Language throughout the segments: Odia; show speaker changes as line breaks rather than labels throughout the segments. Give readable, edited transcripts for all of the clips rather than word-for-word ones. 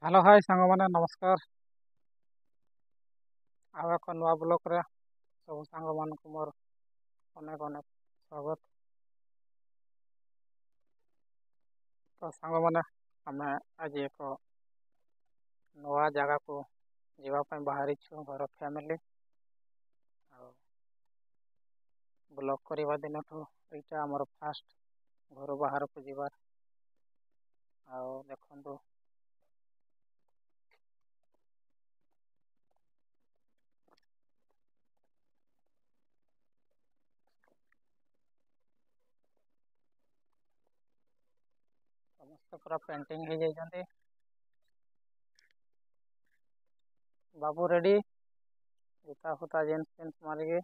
ହ୍ୟାଲୋ ହାଇ ସାଙ୍ଗମାନେ, ନମସ୍କାର। ଆଉ ଏକ ନୂଆ ବ୍ଲଗ୍ରେ ସବୁ ସାଙ୍ଗମାନଙ୍କୁ ମୋର ଅନେକ ଅନେକ ସ୍ୱାଗତ। ତ ସାଙ୍ଗମାନେ, ଆମେ ଆଜି ଏକ ନୂଆ ଜାଗାକୁ ଯିବା ପାଇଁ ବାହାରିଛୁ ଘର ଫ୍ୟାମିଲି। ଆଉ ବ୍ଲଗ୍ କରିବା ଦିନଠୁ ଏଇଟା ଆମର ଫାଷ୍ଟ ଘରୁ ବାହାରକୁ ଯିବାର। ଆଉ ଦେଖନ୍ତୁ, ସମସ୍ତେ ପୁରା ପେଣ୍ଟିଂ ହେଇଯାଇଛନ୍ତି। ବାବୁ ରେଡ଼ି, ଜୁତା ଫୁତା ଜିନ୍ସ ଫିନ୍ସ ମାରିକି।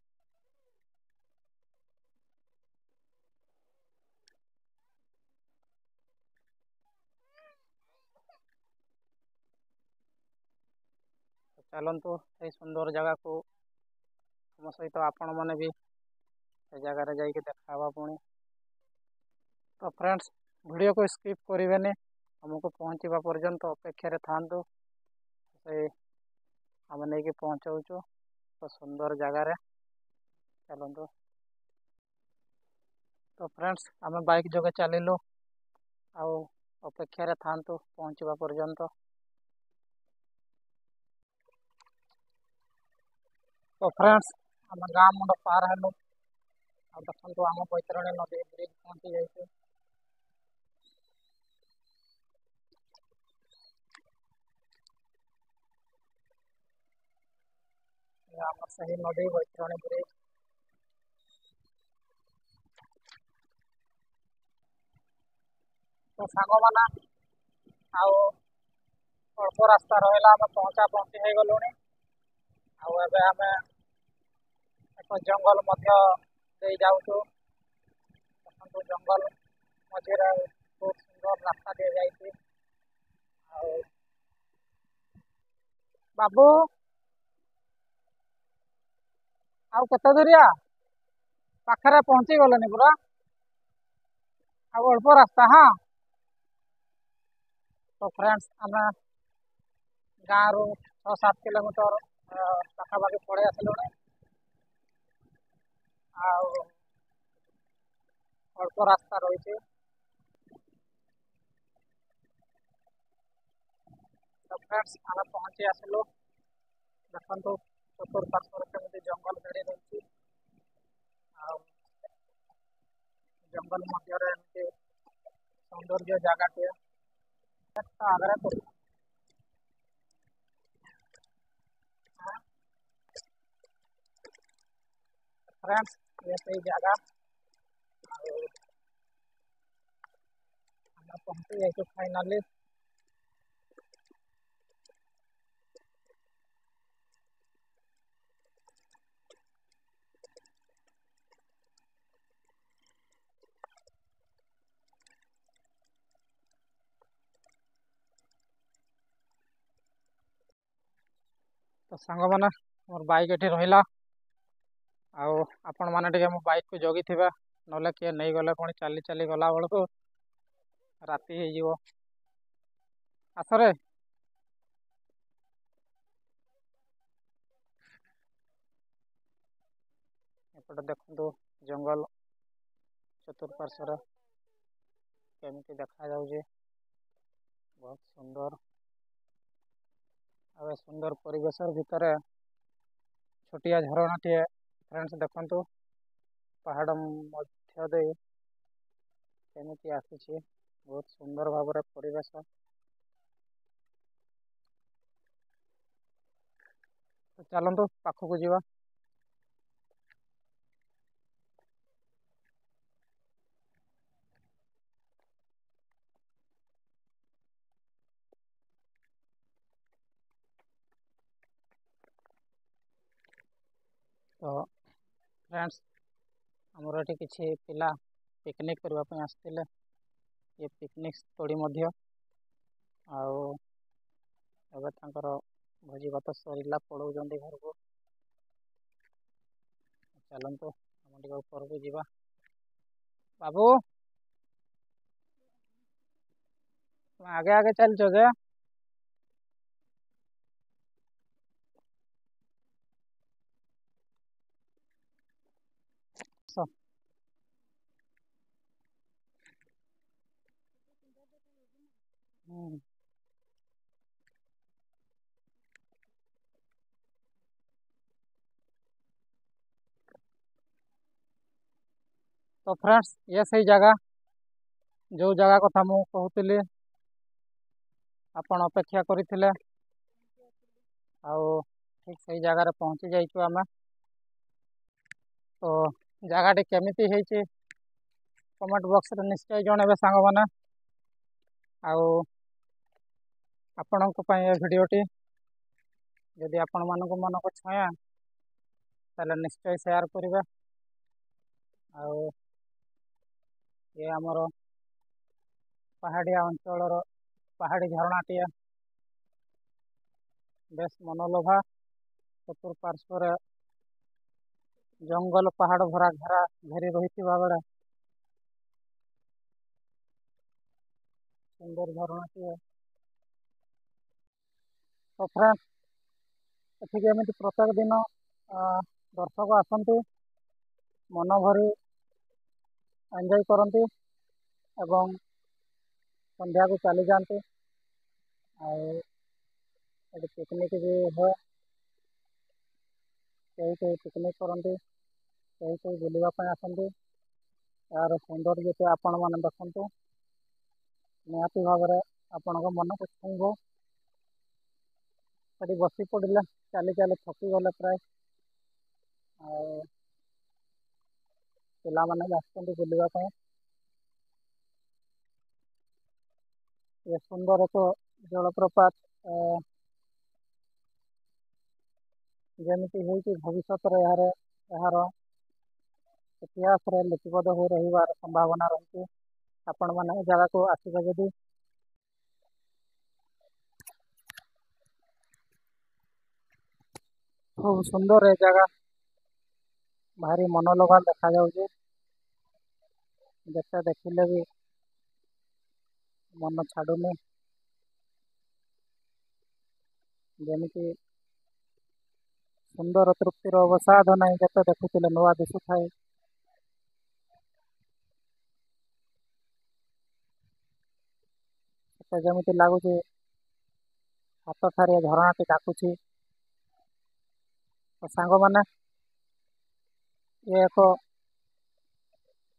ଚାଲନ୍ତୁ ସେଇ ସୁନ୍ଦର ଜାଗାକୁ, ଆମ ସହିତ ଆପଣମାନେ ବି ସେ ଜାଗାରେ ଯାଇକି ଦେଖା ହେବା ପୁଣି। ତ ଫ୍ରେଣ୍ଡସ୍, ଭିଡ଼ିଓକୁ ସ୍କିପ୍ କରିବେନି, ଆମକୁ ପହଞ୍ଚିବା ପର୍ଯ୍ୟନ୍ତ ଅପେକ୍ଷାରେ ଥାଆନ୍ତୁ। ସେଇ ଆମେ ନେଇକି ପହଞ୍ଚଉଛୁ ତ ସୁନ୍ଦର ଜାଗାରେ, ଚାଲନ୍ତୁ। ତ ଫ୍ରେଣ୍ଡସ୍, ଆମେ ବାଇକ୍ ଯୋଗେ ଚାଲିଲୁ, ଆଉ ଅପେକ୍ଷାରେ ଥାଆନ୍ତୁ ପହଞ୍ଚିବା ପର୍ଯ୍ୟନ୍ତ। ତ ଫ୍ରେଣ୍ଡସ୍, ଆମେ ଗାଁ ମୁଣ୍ଡ ପାର ହେଲୁ, ଆଉ ଦେଖନ୍ତୁ ଆମ ବୈତରଣୀ ନଦୀ ବ୍ରିଜ୍ ପହଞ୍ଚି ଯାଇଛୁ। ଆମର ସେହି ନଦୀ ବୈତରଣୀ ବ୍ରିଜ୍। ତ ସାଙ୍ଗମାନେ, ଆଉ ଅଳ୍ପ ରାସ୍ତା ରହିଲା, ଆମେ ପହଞ୍ଚା ପହଞ୍ଚି ହେଇଗଲୁଣି। ଆଉ ଏବେ ଆମେ ଏକ ଜଙ୍ଗଲ ମଧ୍ୟ ଦେଇ ଯାଉଛୁ। ଦେଖନ୍ତୁ, ଜଙ୍ଗଲ ମଝିରେ ବହୁତ ସୁନ୍ଦର ରାସ୍ତା ଦିଆଯାଇଛି। ଆଉ ବାବୁ, ଆଉ କେତେ ଦୂରିଆ? ପାଖରେ ପହଞ୍ଚି ଗଲେନି ପୁରା, ଆଉ ଅଳ୍ପ ରାସ୍ତା। ହଁ, ତ ଫ୍ରେଣ୍ଡସ୍, ଆମେ ଗାଁରୁ 6-7 କିଲୋମିଟର ପାଖାପାଖି ପଳେଇ ଆସିଲୁଣି, ଆଉ ଅଳ୍ପ ରାସ୍ତା ରହିଛି। ତ ଫ୍ରେଣ୍ଡସ୍, ଆମେ ପହଞ୍ଚି ଆସିଲୁ। ଦେଖନ୍ତୁ ଚତୁର୍ପାର୍ଶ୍ୱରେ କେମିତି ଜଙ୍ଗଲ ଘେରି ରହିଛି, ଆଉ ଜଙ୍ଗଲ ମଧ୍ୟରେ ଏମିତି ସୌନ୍ଦର୍ଯ୍ୟ ଜାଗାଟିଏ ଆଗରେ। ଫ୍ରେଣ୍ଡସ୍, ଇଏ ସେଇ ଜାଗା, ଆଉ ଆମେ ପହଞ୍ଚି ଯାଇଛୁ ଫାଇନାଲି। ତ ସାଙ୍ଗମାନେ, ମୋର ବାଇକ୍ ଏଠି ରହିଲା, ଆଉ ଆପଣମାନେ ଟିକେ ମୋ ବାଇକ୍କୁ ଜଗିଥିବେ, ନହେଲେ କିଏ ନେଇଗଲେ ପୁଣି ଚାଲି ଚାଲି ଗଲା ବେଳକୁ ରାତି ହେଇଯିବ। ଆସରେ। ଏପଟେ ଦେଖନ୍ତୁ ଜଙ୍ଗଲ ଚତୁଃପାର୍ଶ୍ୱରେ କେମିତି ଦେଖାଯାଉଛି, ବହୁତ ସୁନ୍ଦର। ଆଉ ଏ ସୁନ୍ଦର ପରିବେଶ ଭିତରେ ଛୋଟିଆ ଝରଣାଟିଏ। ଫ୍ରେଣ୍ଡସ୍, ଦେଖନ୍ତୁ ପାହାଡ଼ ମଧ୍ୟ ଦେଇ କେମିତି ଆସିଛି, ବହୁତ ସୁନ୍ଦର ଭାବରେ ପରିବେଶ। ଚାଲନ୍ତୁ ପାଖକୁ ଯିବା। ତ ଫ୍ରେଣ୍ଡସ୍, ଆମର ଏଠି କିଛି ପିଲା ପିକନିକ୍ କରିବା ପାଇଁ ଆସିଥିଲେ। ଇଏ ପିକନିକ୍ ସ୍ଥଳୀ ମଧ୍ୟ, ଆଉ ଏବେ ତାଙ୍କର ଭୋଜି ଭାତ ସରିଲା, ପଳଉଛନ୍ତି ଘରକୁ। ଚାଲନ୍ତୁ ଆମେ ଟିକେ ଉପରକୁ ଯିବା। ବାବୁ, ଆଗେ ଆଗେ ଚାଲିଛ ଯେ? ତ ଫ୍ରେଣ୍ଡସ୍, ଇଏ ସେଇ ଜାଗା, ଯେଉଁ ଜାଗା କଥା ମୁଁ କହୁଥିଲି, ଆପଣ ଅପେକ୍ଷା କରିଥିଲେ, ଆଉ ଠିକ୍ ସେଇ ଜାଗାରେ ପହଞ୍ଚି ଯାଇଛୁ ଆମେ। ତ ଜାଗାଟି କେମିତି ହେଇଛି କମେଣ୍ଟ ବକ୍ସରେ ନିଶ୍ଚୟ ଜଣାଇବେ ସାଙ୍ଗମାନେ। ଆଉ ଆପଣଙ୍କ ପାଇଁ ଏ ଭିଡ଼ିଓଟି ଯଦି ଆପଣମାନଙ୍କୁ ମନକୁ ଛୁଏଁ, ତାହେଲେ ନିଶ୍ଚୟ ସେୟାର କରିବେ। ଆଉ ଇଏ ଆମର ପାହାଡ଼ିଆ ଅଞ୍ଚଳର ପାହାଡ଼ି ଝରଣାଟିଏ, ବେଶ ମନୋଲୋଭା। ଚତୁଃପାର୍ଶ୍ୱରେ ଜଙ୍ଗଲ ପାହାଡ଼ ଭରା ଘେରା ଘେରି ରହିଥିବା ବେଳେ ସୁନ୍ଦର ଝରଣାଟିଏ। ତ ଫ୍ରେଣ୍ଡ, ଏଠିକି ଏମିତି ପ୍ରତ୍ୟେକ ଦିନ ଦର୍ଶକ ଆସନ୍ତି, ମନ ଭରି ଏନ୍ଜୟ କରନ୍ତି ଏବଂ ସନ୍ଧ୍ୟାକୁ ଚାଲିଯାଆନ୍ତି। ଆଉ ଏଠି ପିକନିକ୍ ବି ହୁଏ। କେହି କେହି ପିକନିକ୍ କରନ୍ତି, କେହି କେହି ବୁଲିବା ପାଇଁ ଆସନ୍ତି। ଏହାର ସୌନ୍ଦର୍ଯ୍ୟଟି ଆପଣମାନେ ଦେଖନ୍ତୁ, ନିହାତି ଭାବରେ ଆପଣଙ୍କ ମନକୁ ଛୁଇଁବ। ସେଠି ବସି ପଡ଼ିଲେ, ଚାଲି ଚାଲି ଥକିଗଲେ ପ୍ରାୟ। ଆଉ ପିଲାମାନେ ବି ଆସୁଛନ୍ତି ବୁଲିବା ପାଇଁ। ଏ ସୁନ୍ଦର ଏକ ଜଳପ୍ରପାତ ଯେମିତି ହେଇଛି, ଭବିଷ୍ୟତରେ ଏହାର ଇତିହାସରେ ଲିପିବଦ୍ଧ ହୋଇ ରହିବାର ସମ୍ଭାବନା ରହିଛି। ଆପଣମାନେ ଏ ଜାଗାକୁ ଆସିବେ ଯଦି, ଖୁବ୍ ସୁନ୍ଦର ଏ ଜାଗା, ଭାରି ମନୋଲୋଭା ଦେଖାଯାଉଛି। ଯେତେ ଦେଖିଲେ ବି ମନ ଛାଡ଼ୁନି। ଯେମିତି ସୁନ୍ଦର ତୃପ୍ତିର ଅବସାଦ ନାହିଁ, ଯେତେ ଦେଖୁଥିଲେ ନୂଆ ଦିଶୁଥାଏ। ସେତେ ଯେମିତି ଲାଗୁଛି ହାତ ଠାରି ଝରଣାଟି ଡାକୁଛି। ତ ସାଙ୍ଗମାନେ, ଇଏ ଏକ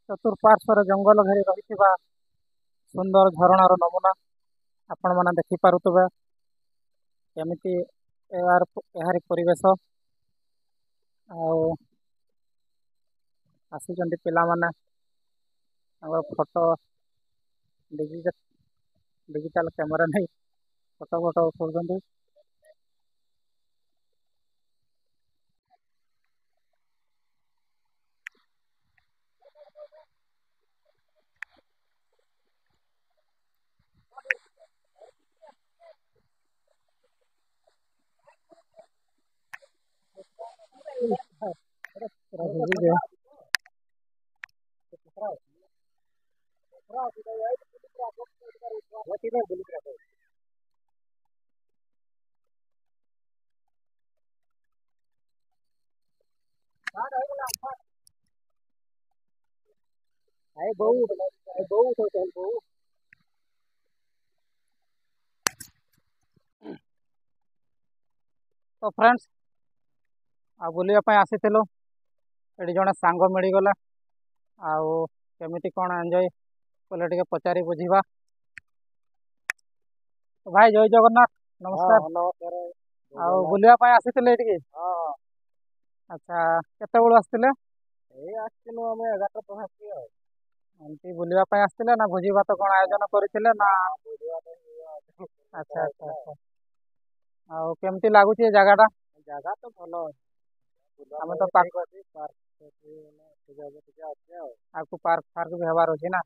ଚତୁଃପାର୍ଶ୍ୱରେ ଜଙ୍ଗଲ ଘେରି ରହିଥିବା ସୁନ୍ଦର ଝରଣାର ନମୁନା। ଆପଣମାନେ ଦେଖିପାରୁଥିବେ କେମିତି ଏହାରି ପରିବେଶ। ଆଉ ଆସିଛନ୍ତି ପିଲାମାନେ, ତାଙ୍କର ଫଟୋ ଡିଜିଟାଲ କ୍ୟାମେରା ନେଇ ଫଟୋ ଫଟୋ ଉଠାଉଛନ୍ତି। ପୁରା ଭିଜିଯିବ। ତ ଫ୍ରେଣ୍ଡସ୍, ଆଉ ବୁଲିବା ପାଇଁ ଆସିଥିଲୁ, ଏଠି ଜଣେ ସାଙ୍ଗ ମିଳିଗଲା। ଆଉ କେମିତି କ'ଣ ଏନ୍ଜୟ କଲେ ଟିକେ ପଚାରି ବୁଝିବା। ଭାଇ, ଜୟ ଜଗନ୍ନାଥ, ନମସ୍କାର।
ନମସ୍କାର।
ଆଉ ବୁଲିବା ପାଇଁ ଆସିଥିଲେ ଏଠିକି?
ହଁ।
ଆଚ୍ଛା, କେତେବେଳୁ ଆସିଥିଲେ?
ଏଇ ଆସିଥିଲୁ ଆମେ 11ଟା ପାଖାପାଖି। ଆଉ
ଏମିତି ବୁଲିବା ପାଇଁ ଆସିଥିଲେ ନା ଭୋଜି ଭାତ କ'ଣ ଆୟୋଜନ କରିଥିଲେ ନା?
ବୁଲିବା ପାଇଁ।
ଆଚ୍ଛା। ଆଉ କେମିତି ଲାଗୁଛି ଏ ଜାଗାଟା?
ଜାଗା ତ ଭଲ ଅଛି।
ଆମେ ତ
ଠିକ ଅଛି, ପାର୍କ ଟିକେ ଅଛି, ଆଉ
ଆଗକୁ ପାର୍କ ଫାର୍କ ବି ହେବାର ଅଛି ନା?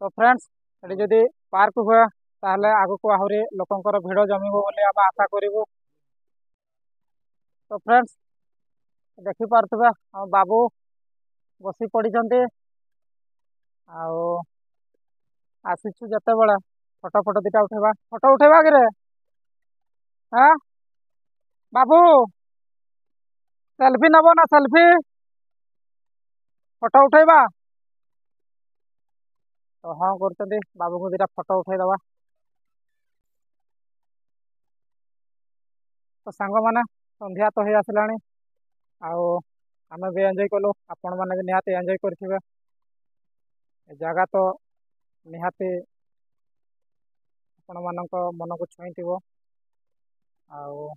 ତ ଫ୍ରେଣ୍ଡସ୍, ଏଠି ଯଦି ପାର୍କ ହୁଏ ତାହେଲେ ଆଗକୁ ଆହୁରି ଲୋକଙ୍କର ଭିଡ଼ ଜମିବ ବୋଲି ଆମେ ଆଶା କରିବୁ। ତ ଫ୍ରେଣ୍ଡସ୍, ଦେଖିପାରୁଥିବେ ଆମ ବାବୁ ବସି ପଡ଼ିଛନ୍ତି। ଆଉ ଆସିଛୁ ଯେତେବେଳେ ଫଟୋ ଫଟୋ ଦୁଇଟା ଉଠେଇବା। ଫଟୋ ଉଠେଇବା କିରେ? ହଁ ବାବୁ, ସେଲଫି ନେବ ନା? ସେଲଫି ଫଟୋ ଉଠେଇବା। ତ ହଁ କରୁଛନ୍ତି, ବାବୁଙ୍କୁ ଦୁଇଟା ଫଟୋ ଉଠେଇଦେବା। ତ ସାଙ୍ଗମାନେ, ସନ୍ଧ୍ୟା ତ ହେଇ ଆସିଲାଣି ଆଉ ଆମେ ବି ଏନ୍ଜୟ କଲୁ, ଆପଣମାନେ ବି ନିହାତି ଏନ୍ଜୟ କରିଥିବେ। ଏ ଜାଗା ତ ନିହାତି ଆପଣମାନଙ୍କ ମନକୁ ଛୁଇଁଥିବ। ଆଉ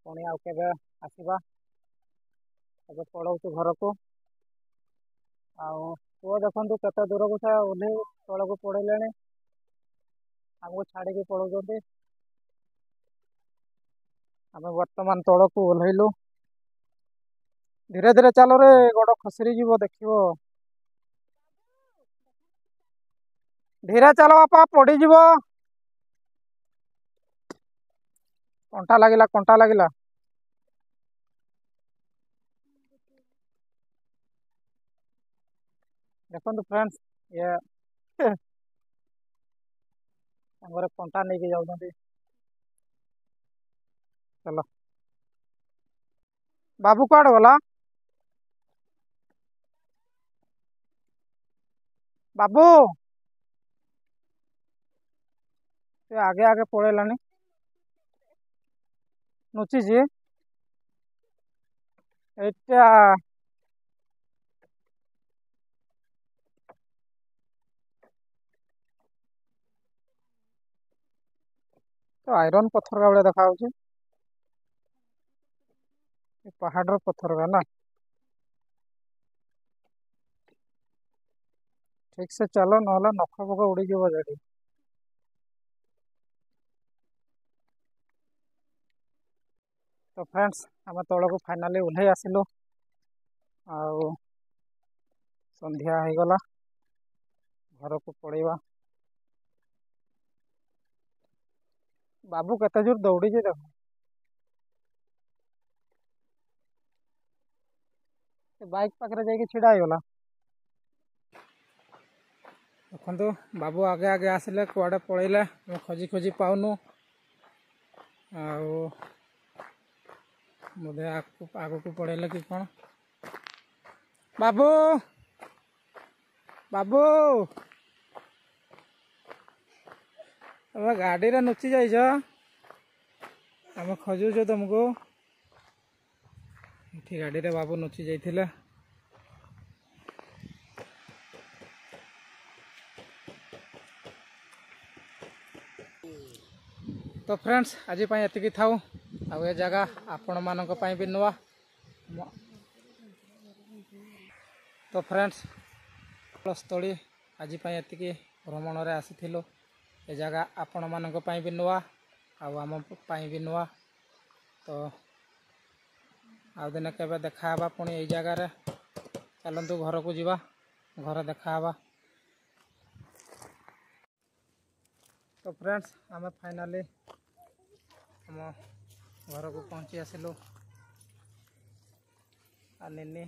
ପୁଣି ଆଉ କେବେ ଆସିବା, ଏବେ ପଳଉଛୁ ଘରକୁ। ଆଉ ପୁଅ ଦେଖନ୍ତୁ କେତେ ଦୂରକୁ ସେ ଓହ୍ଲେଇ ତଳକୁ ପଳେଇଲେଣି, ଆମକୁ ଛାଡ଼ିକି ପଳଉଛନ୍ତି। ଆମେ ବର୍ତ୍ତମାନ ତଳକୁ ଓହ୍ଲେଇଲୁ। ଧୀରେ ଧୀରେ ଚାଲରେ, ଗୋଡ଼ ଖସରି ଯିବ ଦେଖିବ। ଧୀରେ ଚାଲ ବାପା, ପଡ଼ିଯିବ। କଣ୍ଟା ଲାଗିଲା, କଣ୍ଟା ଲାଗିଲା। ଦେଖନ୍ତୁ ଫ୍ରେଣ୍ଡସ୍, ଇଏ ସାଙ୍ଗରେ କଣ୍ଟା ନେଇକି ଯାଉଛନ୍ତି। ଚାଲ ବାବୁ, କୁଆଡ଼େ ଗଲା ବାବୁ? ସେ ଆଗେ ଆଗେ ପଳେଇଲାଣି, ଲୁଚିଛି ଏଇଟା। ତ ଆଇରନ୍ ପଥର ଭଳିଆ ଦେଖାଯାଉଛି, ପାହାଡ଼ର ପଥର ନା। ଠିକ ସେ ଚାଲ, ନହେଲେ ନଖ ଫଖ ଉଡ଼ିଯିବ ସେଠି। ତ ଫ୍ରେଣ୍ଡସ୍, ଆମେ ତଳକୁ ଫାଇନାଲି ଓହ୍ଲେଇ ଆସିଲୁ ଆଉ ସନ୍ଧ୍ୟା ହେଇଗଲା, ଘରକୁ ପଳେଇବା। ବାବୁ କେତେ ଜୋର ଦୌଡ଼ିଛି ଦେଖ। ସେ ବାଇକ୍ ପାଖରେ ଯାଇକି ଛିଡ଼ା ହେଇଗଲା। ଦେଖନ୍ତୁ, ବାବୁ ଆଗେ ଆଗେ ଆସିଲେ, କୁଆଡ଼େ ପଳେଇଲେ, ଆମେ ଖୋଜି ଖୋଜି ପାଉନୁ। ଆଉ ବୋଧେ ଆଗକୁ ପଳେଇଲେ କି କ'ଣ। ବାବୁ, ବାବୁ, ତମେ ଗାଡ଼ିରେ ଲୁଚି ଯାଇଛ, ଆମେ ଖୋଜୁଛୁ ତମକୁ। ଏଠି ଗାଡ଼ିରେ ବାବୁ ଲୁଚି ଯାଇଥିଲେ। ତ ଫ୍ରେଣ୍ଡସ୍, ଆଜି ପାଇଁ ଏତିକି ଥାଉ। ଆଉ ଏ ଜାଗା ଆପଣମାନଙ୍କ ପାଇଁ ବି ନୂଆ। ତ ଫ୍ରେଣ୍ଡସ୍, ସ୍ଥଳୀ ଆଜି ପାଇଁ ଏତିକି। ଭ୍ରମଣରେ ଆସିଥିଲୁ, ଏ ଜାଗା ଆପଣମାନଙ୍କ ପାଇଁ ବି ନୂଆ ଆଉ ଆମ ପାଇଁ ବି ନୂଆ। ତ ଆଉ ଦିନେ କେବେ ଦେଖା ହେବା ପୁଣି ଏଇ ଜାଗାରେ। ଚାଲନ୍ତୁ ଘରକୁ ଯିବା, ଘରେ ଦେଖା ହେବା। ତ ଫ୍ରେଣ୍ଡସ୍, ଆମେ ଫାଇନାଲି ଆମ ଘରକୁ ପହଞ୍ଚି ଆସିଲୁ। ଆଉ ନିନି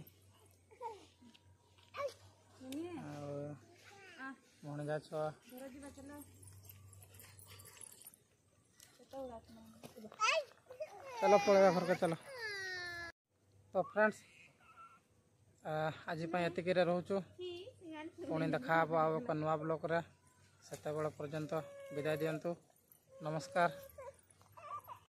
ଆଉ ଭଣଜା ଛୁଆ, ଚାଲ ପଳେଇବା ଘରକୁ ଚାଲ। ତ ଫ୍ରେଣ୍ଡସ୍, ଆଜି ପାଇଁ ଏତିକିରେ ରହୁଛୁ। ପୁଣି ଦେଖା ହେବ ଆଉ ଏକ ନୂଆ ବ୍ଲଗ୍ରେ। ସେତେବେଳେ ପର୍ଯ୍ୟନ୍ତ ବିଦାୟ ଦିଅନ୍ତୁ। ନମସ୍କାର।